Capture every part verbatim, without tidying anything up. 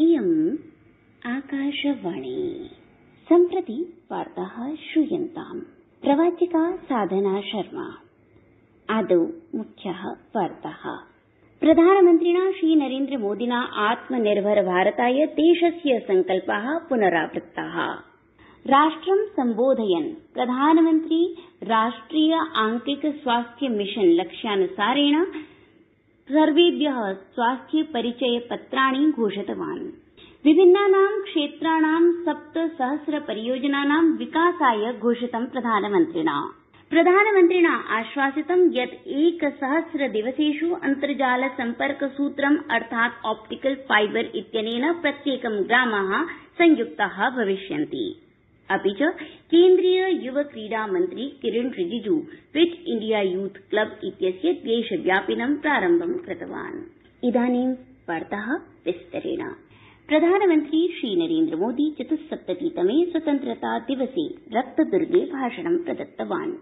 इयम् आकाशवाणी सम्प्रति वार्ताः श्रूयन्ताम्। प्रवाचिका साधना शर्मा। आदौ मुख्याः वार्ताः। प्रधानमन्त्रिणा श्रीनरेन्द्र मोदिना आत्मनिर्भर भारताय देशस्य संकल्पाः पुनरावृत्ताः। राष्ट्रं सम्बोधयन् प्रधानमन्त्री राष्ट्रिय आंकिक स्वास्थ्य मिशन लक्ष्यानुसारेण सर्वेभ्यः स्वास्थ्य परिचय पत्राणि घोषितवान्। विभिन्नानां क्षेत्राणां सप्त सहस्र परियोजनानां विकासाय घोषितं प्रधानमन्त्रिणा। प्रधानमन्त्रिणा आश्वासितं यत् एकसहस्र दिवसेषु अन्तर्जाल सम्पर्क सूत्रम् अर्थात् ऑप्टिकल फाइबर इत्यनेन प्रत्येकं ग्रामाः संयुक्ताः भविष्यन्ति। अपि च केन्द्रीय युव क्रीडा मन्त्री Kiren Rijiju fit India youth club इत्यस्य देशव्यापिनं प्रारम्भं कृतवान्। इदानीं वार्ताः विस्तरेण। प्रधानमन्त्री श्रीनरेन्द्र मोदी चतुस्सप्ततितमे स्वतन्त्रता दिवसे रक्तदुर्गे भाषणं प्रदत्तवान्।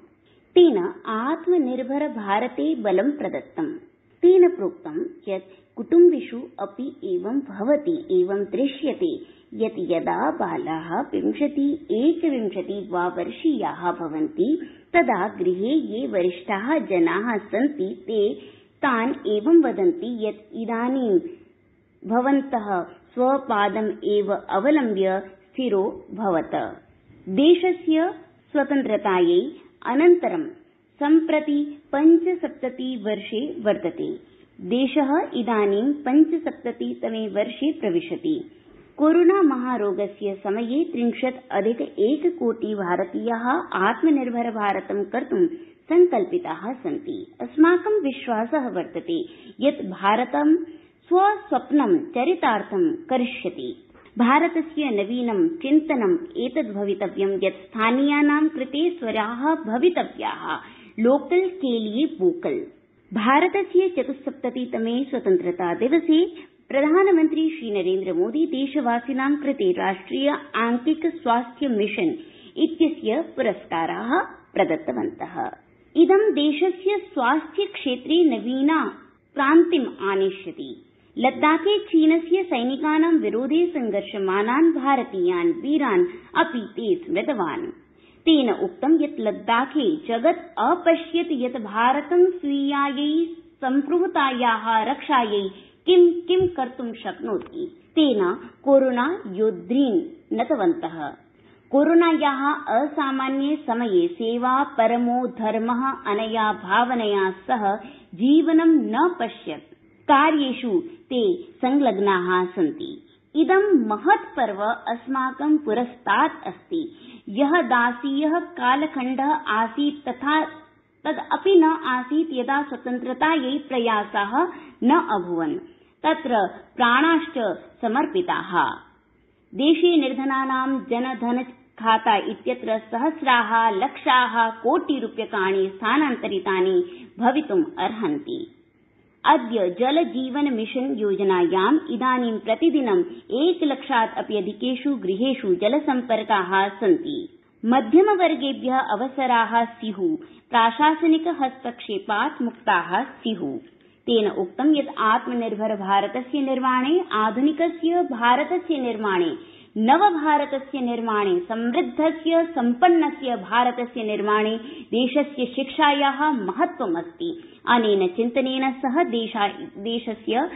तेन आत्मनिर्भर भारते बलं प्रदत्तम्। तेन प्रोक्तं यत् कुटुम्बेषु अपि एवं भवति एवं दृश्यते यत् यदा बालाः विंशति एकविंशति वा वर्षीयाः भवन्ति तदा गृहे ये वरिष्ठाः जनाः सन्ति ते तान् एवं वदन्ति यत् इदानीं भवन्तः स्वपादम् एव अवलम्ब्य स्थिरो भवत। देशस्य स्वतन्त्रतायै अनन्तरं सम्प्रति पञ्चसप्तति वर्षे वर्तते। देशः इदानीं पञ्चसप्ततितमे वर्षे प्रविशति। कोरोना महारोगस्य समये त्रिंशत् अधिक एककोटि भारतीयाः आत्मनिर्भर भारतं कर्तुं संकल्पिताः सन्ति। अस्माकं विश्वासः वर्तते यत् भारतं स्वस्वप्नं चरितार्थं करिष्यति। भारतस्य नवीनं चिन्तनम् एतद् भवितव्यं यत् स्थानीयानां कृते स्वराः भवितव्याः। लोकल के लिए वोकल। भारतस्य चतुस्सप्ततितमे स्वतन्त्रता दिवसे प्रधानमन्त्री श्रीनरेन्द्र मोदी देशवासिनां कृते राष्ट्रिय आंकिक स्वास्थ्य मिशन इत्यस्य पुरस्काराः प्रदत्तवन्तः। इदं देशस्य स्वास्थ्य क्षेत्रे नवीना क्रान्तिम् आनेष्यति। लद्दाखे चीनस्य सैनिकानां विरोधे संघर्षमानान् भारतीयान् वीरान् अपि ते स्मृतवान्। तेन उक्तं यत् लद्दाखे जगत् अपश्यत् यत् भारतं स्वीयायै सम्प्रभुतायाः रक्षायै किं किं कर्तुं शक्नोति। तेन कोरोना योद्धॄन् नतवन्तः। कोरोनायाः असामान्ये समये सेवा परमो धर्मः अनया भावनया सह जीवनं न पश्यत् कार्येषु ते संलग्नाः सन्ति। इदं महत् पर्व अस्माकं पुरस्तात् अस्ति। यः दासीयः कालखण्डः आसीत् तथा तदपि न आसीत् यदा स्वतन्त्रतायै प्रयासाः न अभूवन्। तत्र प्राणाश्च समर्पिताः। देशे निर्धनानां जनधन खाता इत्यत्र सहस्राः लक्षाः कोटिरूप्यकाणि स्थानान्तरितानि भवितुम् अर्हन्ति। अद्य जल जीवन मिशन योजनायाम् इदानीं प्रतिदिनं एकलक्षात् अपि अधिकेषु गृहेषु जलसम्पर्काः सन्ति। मध्यमवर्गेभ्यः अवसराः स्युः। प्राशासनिक हस्तक्षेपात् मुक्ताः स्युः। तेन उक्तं यत् आत्मनिर्भर भारतस्य निर्माणे आधुनिकस्य भारतस्य निर्माणे नवभारतस्य निर्माणे समृद्धस्य सम्पन्नस्य भारतस्य निर्माणे देशस्य शिक्षायाः महत्त्वमस्ति। अनेन चिन्तनेन सह देशस्य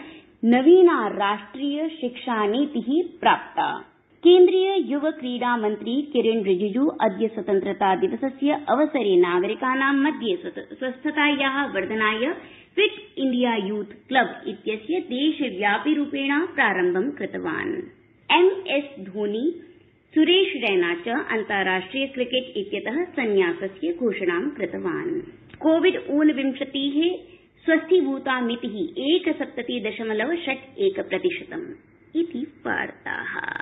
नवीना राष्ट्रिय शिक्षा नीतिः प्राप्ता। केन्द्रीय युव क्रीडा मन्त्री किरेन रिजिजू अद्य स्वतन्त्रता दिवसस्य अवसरे नागरिकानां मध्ये स्वस्थतायाः वर्धनाय फिट इंडिया यूथ क्लब इत्यस्य देशव्यापी रूपेण प्रारम्भं कृतवान्। एम एस धोनी सुरेश रैना च अन्ताराष्ट्रिय क्रिकेट इत्यतः संन्यासस्य घोषणां कृतवान्। कोविड ऊनविंशतिः स्वस्थीभूता मितिः एकसप्तति दशमलव षट् एक प्रतिशतम् इति वार्ताः।